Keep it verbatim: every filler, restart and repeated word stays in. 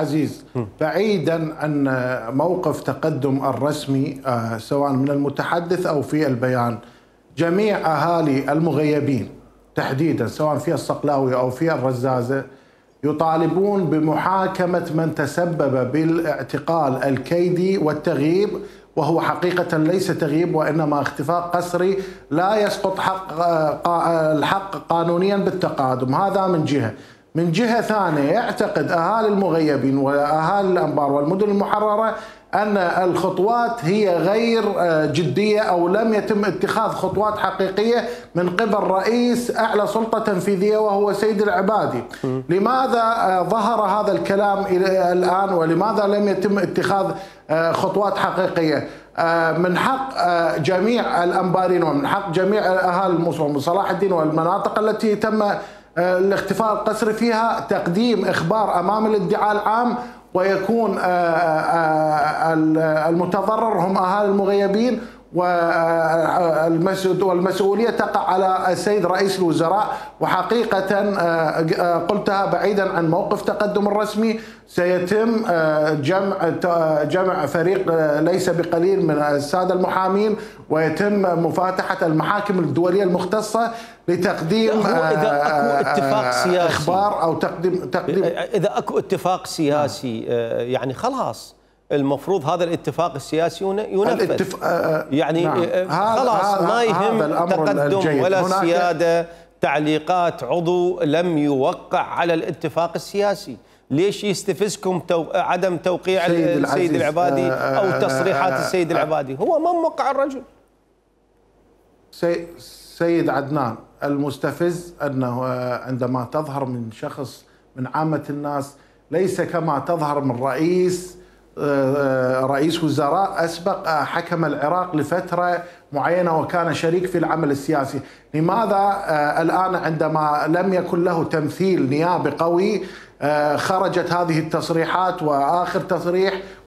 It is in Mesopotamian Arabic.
عزيز، بعيدا عن موقف تقدم الرسمي سواء من المتحدث أو في البيان، جميع أهالي المغيبين تحديدا سواء في الصقلاوي أو في الرزازة يطالبون بمحاكمة من تسبب بالاعتقال الكيدي والتغييب، وهو حقيقة ليس تغييب وإنما اختفاء قسري لا يسقط حق الحق قانونيا بالتقادم. هذا من جهة. من جهة ثانية يعتقد أهالي المغيبين وأهالي الأنبار والمدن المحررة أن الخطوات هي غير جدية أو لم يتم اتخاذ خطوات حقيقية من قبل رئيس أعلى سلطة تنفيذية وهو سيد العبادي. لماذا ظهر هذا الكلام الآن ولماذا لم يتم اتخاذ خطوات حقيقية؟ من حق جميع الأنبارين ومن حق جميع أهالي الموصل وصلاح الدين والمناطق التي تم الاختفاء القسري فيها تقديم إخبار أمام الادعاء العام، ويكون المتضرر هم أهالي المغيبين والمسؤولية تقع على السيد رئيس الوزراء. وحقيقة قلتها بعيدا عن موقف تقدم الرسمي، سيتم جمع جمع فريق ليس بقليل من السادة المحامين ويتم مفاتحة المحاكم الدولية المختصة لتقديم إذا أكو اتفاق سياسي إخبار أو تقديم تقديم إذا أكو اتفاق سياسي يعني خلاص المفروض هذا الاتفاق السياسي ينفذ. الاتف... يعني نعم. خلاص ما يهم تقدم ولا سيادة تعليقات عضو لم يوقع على الاتفاق السياسي. ليش يستفزكم تو... عدم توقيع السيد العبادي أو تصريحات السيد العبادي؟ هو ما موقع الرجل. سي... سيد عدنان، المستفز أنه عندما تظهر من شخص من عامة الناس ليس كما تظهر من رئيس رئيس وزراء أسبق حكم العراق لفترة معينة وكان شريك في العمل السياسي. لماذا الآن عندما لم يكن له تمثيل نيابي قوي خرجت هذه التصريحات؟ وآخر تصريح